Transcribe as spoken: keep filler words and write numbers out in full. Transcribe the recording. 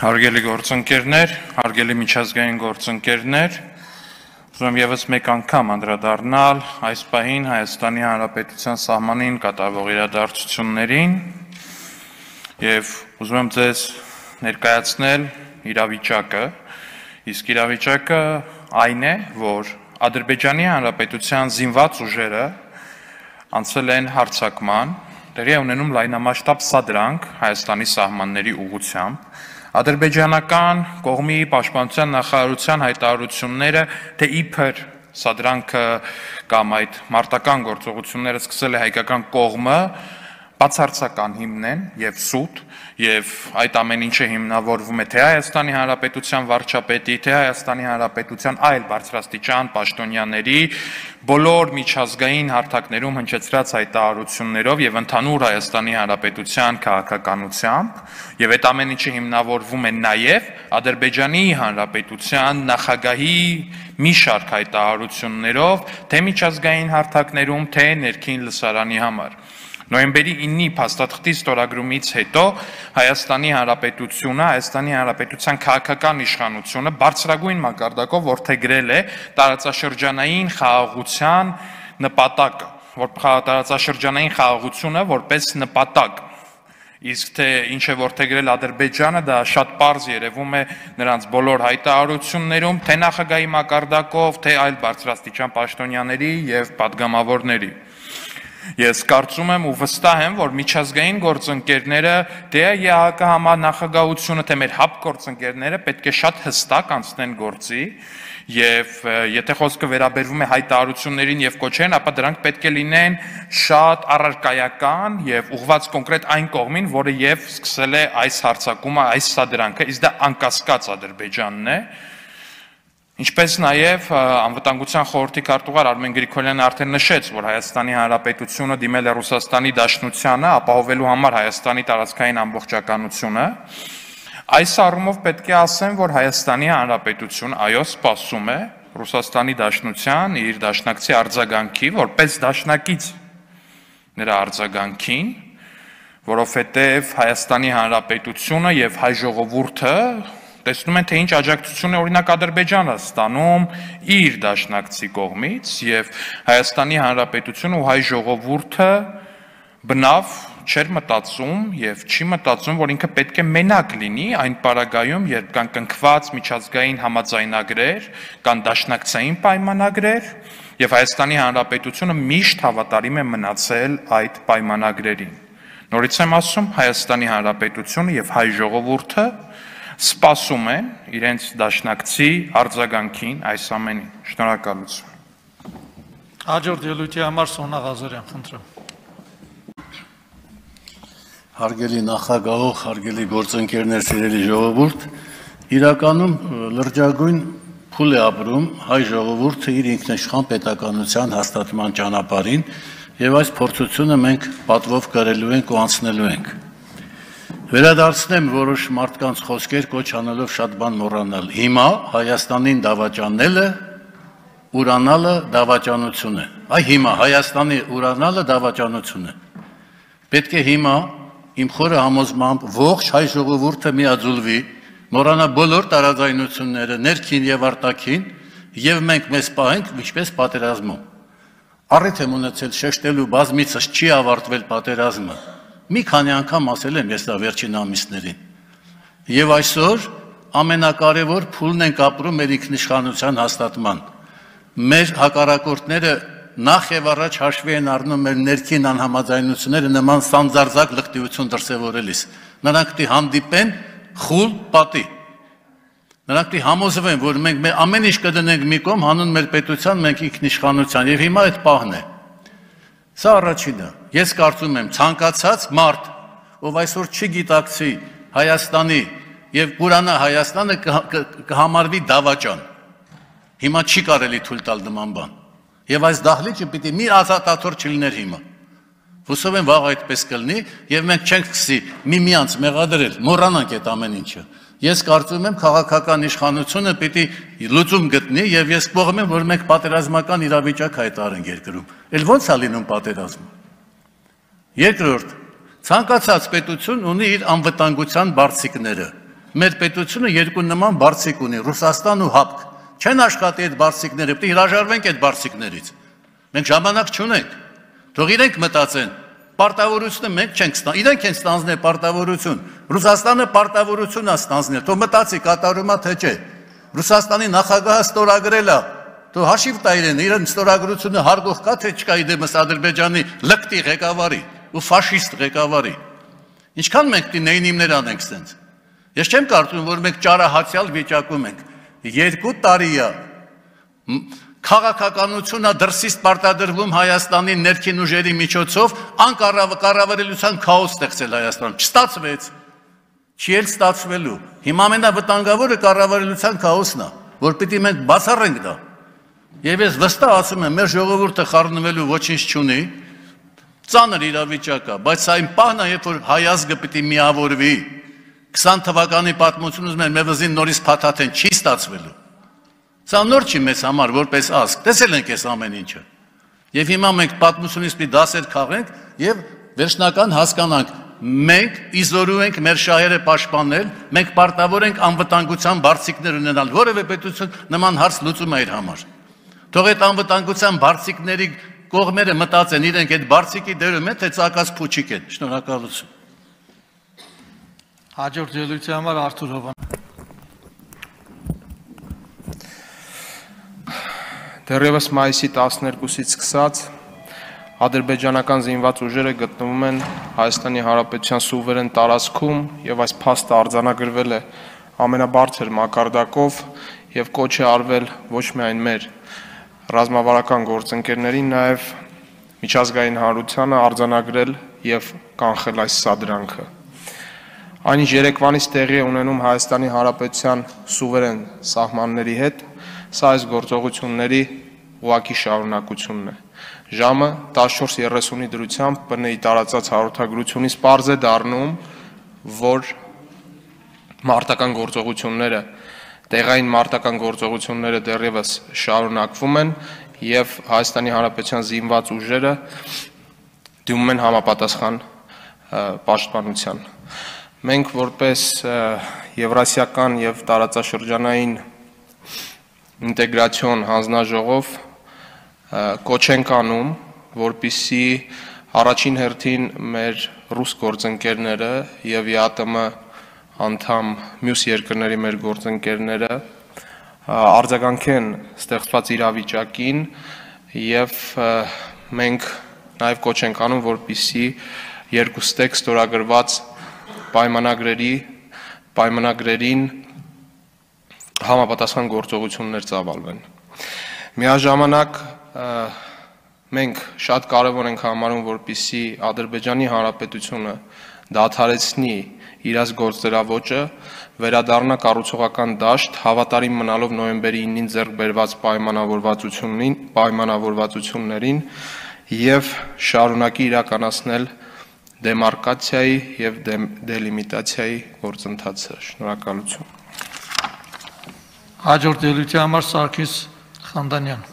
Հարգելի գործընկերներ, հարգելի միջազգային գործընկերներ, ուզում եւս մեկ անգամ անդրադառնալ այս պահին Հայաստանի Հանրապետության սահմանին կատարվող իրադարձություններին եւ ուզում եմ ձեզ ներկայացնել իրավիճակը, իսկ իրավիճակը այն է, որ Ադրբեջանի Հանրապետության զինված ուժերը անցել են հարձակման, տեղի է ունենում լայնամասշտաբ սադրանք Հայաստանի սահմանների ուղղությամբ, ադրբեջանական կողմի պաշտպանության նախարարության հայտարարությունները, թե իբր սադրանքը կամ այդ մարտական գործողությունները սկսել է հայկական կողմը, բացարձական հիմն են եւ սուտ, եւ այդ ամեն ինչը հիմնավորվում է թե Հայաստանի Հանրապետության վարչապետի, թե Հայաստանի Հանրապետության այլ բարձրաստիճան պաշտոնյաների բոլոր միջազգային հարթակներում հնչեցրած հայտարարություններով եւ ընդհանուր Հայաստանի Հանրապետության քաղաքականությամբ, եւ այդ ամեն ինչը հիմնավորվում է նաեւ Ադրբեջանի Հանրապետության նախագահի մի շարք հայտարարություններով, թե միջազգային հարթակներում, թե ներքին լսարանի համար։ Նոյեմբերի ինը փաստաթղթի ստորագրումից հետո Հայաստանի Հանրապետությունը, Հայաստանի Հանրապետության քաղաքական իշխանությունը բարձրագույն մակարդակով որդեգրել է տարածաշրջանային խաղաղության նպատակը, որ տարածաշրջանային խաղաղությունը որպես նպատակ, իսկ թե ինչ է որդեգրել Ադրբեջանը, դա շատ պարզ երևում է նրանց բոլոր հայտարարություններում, թե նախագահի մակարդակով, թե այլ բարձրաստիճան պաշտոնյաների եւ падգամավորների։ Ես կարծում եմ ու վստահ եմ, որ միջազգային գործընկերները, թե ԵԱՀԿ համանախագահությունը, թե մեր հապ գործընկերները պետք է շատ հստակ անցնեն գործի եւ եթե խոսքը վերաբերվում է հայտարարություններին եւ կոչերին, ապա դրանք պետք է լինեն շատ առարկայական եւ ուղղված կոնկրետ այն կողմին, որը եւ սկսել է այս հարձակումը, այս սադրանքը, իսկ դա անկասկած Ադրբեջանն է։ Ինչպես նաև անվտանգության խորհրդի քարտուղար Արմեն Գրիգորյանը արդեն նշեց, որ Հայաստանի Հանրապետությունը դիմել է Ռուսաստանի Դաշնությանը ապահովելու համար Հայաստանի տարածքային ամբողջականությունը, այս առումով պետք է ասեմ, որ Հայաստանի Հանրապետությունը այո սպասում է Ռուսաստանի Դաշնության իր դաշնակցի արձագանքի, որպես դաշնակից նրա արձագանքին, որովհետև Հայաստանի Հանրապետությունը եւ հայ ժողովուրդը տեսնում են, թե ինչ աջակցություն է օրինակ Ադրբեջանը ստանում իր դաշնակցի կողմից եւ Հայաստանի Հանրապետությունը ու հայ ժողովուրդը բնավ չէր մտածում եւ չի մտածում, որ ինքը պետք է մենակ լինի այն պարագայում, երբ կան կնքված միջազգային համաձայնագրեր, կան դաշնակցային պայմանագրեր եւ Հայաստանի Հանրապետությունը միշտ հավատարիմ է մնացել այդ պայմանագրերին։ Նորից եմ ասում, Հայաստանի Հանրապետությունը եւ հայ ժողովուրդը սպասում են իրենց դաշնակցի արձագանքին այս ամենին։ Շնորհակալություն։ Հաջորդ ելույթի համար Սոնա Ղազարյան, խնդրեմ։ Հարգելի նախագահող, հարգելի գործընկերներ, սիրելի ժողովուրդ, իրականում լրջագույն փուլ է ապրում հայ ժողովուրդը իր ինքնիշխան պետականության հաստատման ճանապարհին եւ այս փորձությունը մենք պատվով կրելու ենք ու անցնելու ենք։ Վերադարձնեմ որոշ մարդկանց խոսքեր կոչ անելով շատ բան մոռանալ։ Հիմա Հայաստանին դավաճանելը, ուրանալը դավաճանություն է։ Այ հիմա Հայաստանի ուրանալը դավաճանություն է։ Պետք է հիմա իմ խորը համոզմամբ ողջ հայ ժողովուրդը միաձուլվի, մոռանա բոլոր տարաձայնությունները, ներքին եւ արտաքին, եւ մենք մեզ պահենք ինչպես պատերազմում։ Առիթ եմ ունեցել շեշտելու բազմիցս չի ավարտվել պատերազմը։ Մի քանի անգամ ասել եմ ես դա վերջին ամիսներին։ Եվ այսօր ամենակարևոր փուլն ենք ապրում մեր ինքնիշխանության հաստատման։ Մեր հակառակորդները նախ եւ առաջ հաշվի են առնում մեր ներքին անհամաձայնությունները նման սանձարձակ լղտիություն դրսևորելիս։ Նրանք պիտի հանդիպեն խուլ պատի։ Նրանք պիտի համոզվեն, որ մենք ամեն ինչ կդնենք մի կողմ հանուն մեր պետության, մենք ինքնիշխանության, եւ հիմա այդ պահն է։ Սա առաջինը։ Ես կարծում եմ ցանկացած մարդ, ով այսօր չգիտակցի Հայաստանի եւ Ուրանա Հայաստանը կհամարվի դավաճան։ Հիմա չի կարելի թույլ տալ նման բան։ Եվ այս դահլիճը պիտի մի ազատաթոռ չլիներ հիմա։ Հուսով եմ վաղ այդպես կլինի եւ մենք չենք սկսի միմյանց մեղադրել, մոռանանք այդ ամեն ինչը։ Ես կարծում եմ քաղաքական իշխանությունը պիտի լուծում գտնի եւ ես կողմ եմ, որ մենք պատերազմական իրավիճակ հայտարարենք երկրում։ Էլ ո՞նց է լինում պատերազմը։ Երկրորդ, ցանկացած պետություն ունի իր անվտանգության բարձիկները։ մեր պետությունը երկու նման բարձիկ ունի, Ռուսաստան ու Հապկ։ Չեն աշխատի այդ բարձիկները, պետք է հրաժարվենք այդ բարձիկներից։ Մենք ժամանակ չունենք։ Թող իրենք մտածեն, պարտավորությունը մենք չենք ստանձնել, իրենք են ստանձնել պարտավորություն։ Ռուսաստանը պարտավորություն է ստանձնել, թող մտածի կատարումա թե չէ։ Ռուսաստանի նախագահը ստորագրել է, թող հաշիվ տա իրեն, իրեն ստորագրությունը հարգող կա թե չկա իդեմս Ադրբեջանի լկտի ղեկավարի ու ֆաշիստ ղեկավարի։ Ինչքան մենք նեյնիմներ անենք սենց։ Ես չեմ կարծում, որ մենք ճարահացյալ վիճակում ենք։ Երկու տարի է քաղաքականությունը դրսից պարտադրվում Հայաստանի ներքին ուժերի միջոցով անկառավարելիության քաոս ստեղծել Հայաստանում։ Չստացվեց։ Չի էլ ստացվելու։ Հիմա ամենավտանգավորը կառավարելիության քաոսն է, որ պիտի մենք բացառենք դա։ Եվ ես վստահ ասում եմ, մեր ժողովուրդը խառնվելու ոչինչ չունի, ծանր իրավիճակ է, բայց սա իմ պահն է, երբ որ հայ ազգը պիտի միավորվի։ քսան թվականի պատմությունից մեր մեվզին նորից փաթաթեն չի ստացվելու։ Սա նոր չի մեզ համար, որպես ազգ, տեսել ենք այս ամեն ինչը։ Եվ հիմա մենք պատմությունից պիտի դասեր քաղենք եւ վերջնական հասկանանք, մենք իզորու ենք մեր շահերը պաշտպանել, մենք պարտավոր ենք անվտանգության բարձիկներ ունենալ, որևէ պետություն նման հարց լուծում է իր համար։ Թող այդ անվտանգության բարձիկների կողմերը մտածեն իրենք այդ բարձիկի դերում են, թե ցակած փուչիկ են։ Շնորհակալություն։ Հաջորդ ելույթի համար Արթուր Հովան։ Դեռևս մայիսի տասներկուսից սկսած ադրբեջանական զինված ուժերը գտնվում են Հայաստանի Հանրապետության սուվերեն տարածքում եւ այս փաստը արձանագրվել է ամենաբարձր մակարդակով եւ կոչ է արվել ոչ միայն մեր ռազմավարական գործընկերներին, նաեւ միջազգային հանրությանը արձանագրել եւ կանխել այս սադրանքը։ Այնինչ երեկվանից տեղի է ունենում Հայաստանի Հանրապետության սուվերեն սահմանների հետ, սա այս գործողությունների ուղղակի շարունակությունն է։ Ժամը տասնչորս երեսունի դրությամբ ՊՆ-ի տարածած հաղորդագրությունից պարզ է դառնում, որ մարտական գործողությունները, տեղային մարտական գործողությունները դեռևս շարունակվում են եւ Հայաստանի Հանրապետության զինված ուժերը դիմում են համապատասխան պաշտպանության։ Մենք որպես Եվրասիական եւ տարածաշրջանային ինտեգրացիոն հանձնաժողով կոչ ենք անում, որպեսզի առաջին հերթին մեր ռուս գործընկերները եւ ԵԱՏՄ անդամ մյուս երկրների մեր գործընկերները արձագանքեն ստեղծված իրավիճակին եւ մենք նաեւ կոչ ենք անում, որպեսզի երկուստեք ստորագրված պայմանագրերի պայմանագրերին համապատասխան գործողություններ ծավալվեն։ Միաժամանակ մենք շատ կարևոր ենք համարում, որպեսզի Ադրբեջանի Հանրապետությունը դադարեցնի իր գործերաոճը, վերադառնա կառուցողական դաշտ, հավատարիմ մնալով նոյեմբերի ինին ձեռք բերված պայմանավորվածություններին, պայմանավորվածություններին եւ շարունակի իրականացնել դեմարկացիայի եւ դելիմիտացիայի գործընթացը։ Շնորհակալություն։ Հաջորդ ելույթի համար Սարգիս Խանդանյան։